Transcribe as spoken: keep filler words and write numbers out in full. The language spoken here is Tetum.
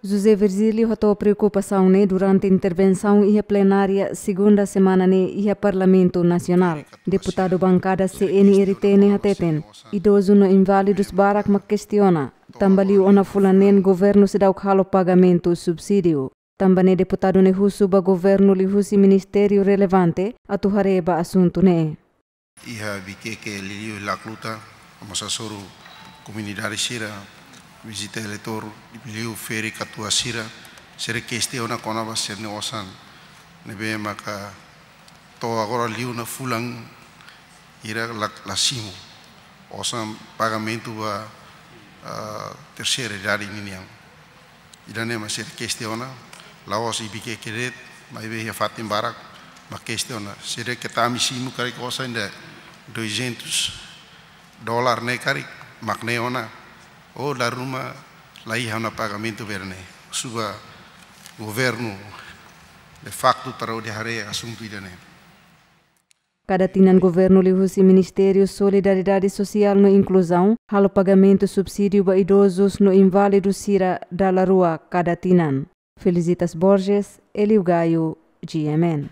José Virgílio hato'o preokupasaun ne'e durante intervensaun iha plenária segunda semana ne'e iha Parlamentu Nasionál. Deputadu bankada C N R T ne'e hateten, idozu no inválidus barak mak kestiona, tanba liu ona fulan neen governu seidauk halo pagamentu subsídiu. Tanba ne'e deputadu ne'e husu ba governu liuhusi ministériu relevante atu haree ba asuntu ne'e. Iha Vikeke liuliu Lacluta, mós hasoru komunidade sira, vizita eleitór, liu ferik katuas sira, sira kestiona kona-ba sira-nia osan ne'ebé maka to'o agora liu ona fulan hira la, la simu. Osan pagamentu ba, ah, terseira idade ninian. Ida-ne'e mak sira kestiona, la'ós iha Vikeke de'it, maibé iha fatin barak mak kestiona. Sira keta ami simu karik osan ida duzentos dólar ne'e karik, mak ne'e ona, ou dala ruma la iha ona pagamentu ba ida-ne'e. Husu ba governu de facto para hodi haree asuntu ida-ne'e. Kada tinan governu liuhusi Ministériu Solidariedade Sosiál no Inkluzaun halo pagamentu subsídiu ba idozus no inválidus sira dala rua kada tinan. Felicitas Borges, Elio Gaio, G M N.